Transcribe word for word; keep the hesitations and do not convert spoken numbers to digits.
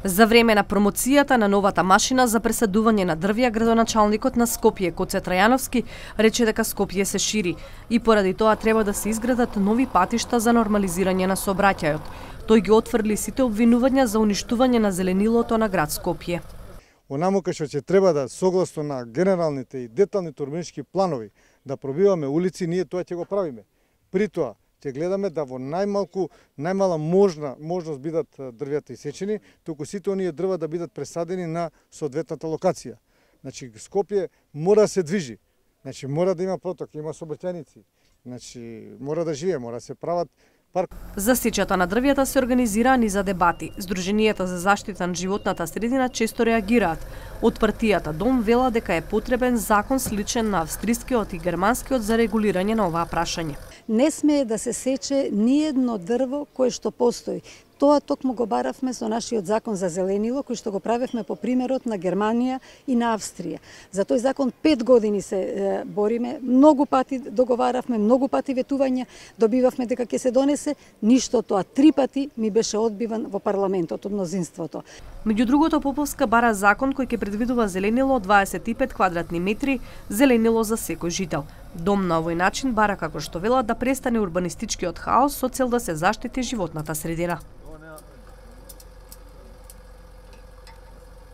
За време на промоцијата на новата машина за пресадување на дрвја, градоначалникот на Скопје Коце Трајановски рече дека Скопје се шири и поради тоа треба да се изградат нови патишта за нормализирање на сообраќајот. Тој ги отфрли сите обвинувања за уништување на зеленилото на град Скопје. Онаму кај што ќе треба да согласно на генералните и деталните урбанистички планови да пробиваме улици, ние тоа ќе го правиме. При тоа ќе гледаме да во најмалку, најмала можна можност бидат дрвјата исечени, туку сите оние дрва да бидат пресадени на соодветната локација. Значи Скопје мора да се движи. Значи мора да има проток, има сообраќајници. Значи мора да живее, мора да се прават парк. За сечата на дрвјата се организираа низа дебати. Сдруженијата за заштита на животната средина често реагираат. Од партијата Дом вела дека е потребен закон сличен на австрискиот и германскиот за регулирање на оваа прашање. Не смее да се сече ниедно дрво кое што постои. Тоа токму го баравме со нашиот закон за зеленило, кој што го правевме по примерот на Германија и на Австрија. За тој закон пет години се е, бориме, многу пати договаравме, многу пати ветувања, добивавме дека ќе се донесе, ништо тоа три пати ми беше одбиван во парламентот од мнозинството. Меѓу другото, Поповска бара закон кој ќе предвидува зеленило од дваесет и пет квадратни метри, зеленило за секој жител. Дом на овој начин бара, како што велат, да престане урбанистичкиот хаос со цел да се заштити животната средина.